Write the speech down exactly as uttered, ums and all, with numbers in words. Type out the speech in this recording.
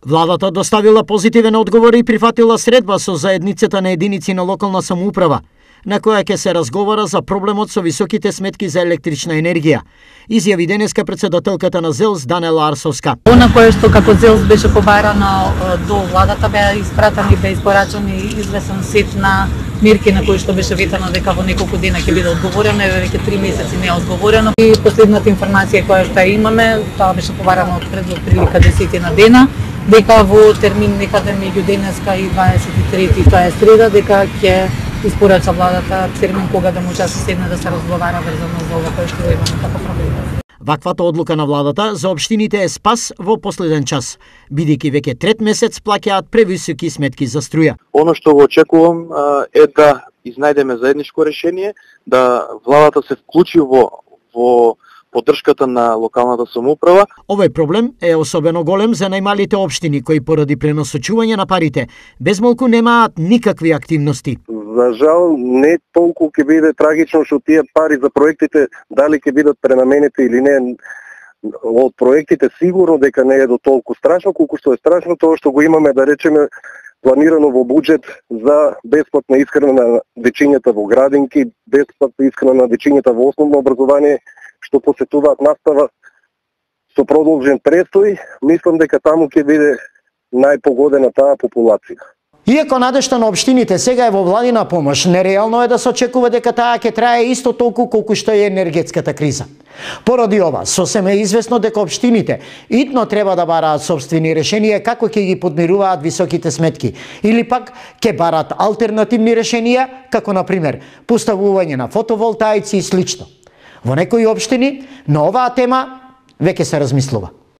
Владата доставила позитивен одговор и прифатила средба со заедницата на единици на локална самоуправа, на која ќе се разговара за проблемот со високите сметки за електрична енергија, изјави денеска председателката на ЗЕЛС Данела Арсовска. Она кое што како ЗЕЛС беше побарано до владата, беа испратени, беа испорачани извесен сет на мерки на кои што беше ветано дека во неколку дена ќе биде одговорено, веќе три месеци не е одговорено. И последната информација која што имаме, тоа беше побарано пред прилика десет на дена, дека во термин некаде меѓу денеска и дваесет и трети, тоа е среда, дека ќе испорача владата термин кога да може да се седне да се разговара врзано за ова кое што имаме како проблем. Ваквата одлука на владата за општините е спас во последен час, бидејќи веќе трет месец плаќаат превисоки сметки за струја. Оно што го очекувам е да изнајдеме заедничко решение, да владата се вклучи во во поддршката на локалната самоуправа. Овој проблем е особено голем за најмалите општини кои поради пренасочување на парите безмалку немаат никакви активности. За жал, не толку ќе биде трагично што тие пари за проектите дали ќе бидат пренаменети или не. Од проектите сигурно дека не е до толку страшно, колку што е страшно тоа што го имаме, да речеме, планирано во буџет за бесплатна исхрана на дечињата во градинки, бесплатна исхрана на дечињата во основно образование, што посетуваат настава со продолжен престој. Мислам дека таму ќе биде најпогодена таа популација. Иако надежта на општините сега е во владина помош, нереално е да се очекува дека таа ќе трае исто толку колку што е енергетската криза. Поради ова, сосем е известно дека општините итно треба да бараат собствени решенија како ќе ги подмируваат високите сметки, или пак ќе бараат алтернативни решенија, како на пример поставување на фотоволтаици и слично. Во некои општини на оваа тема веќе се размислува.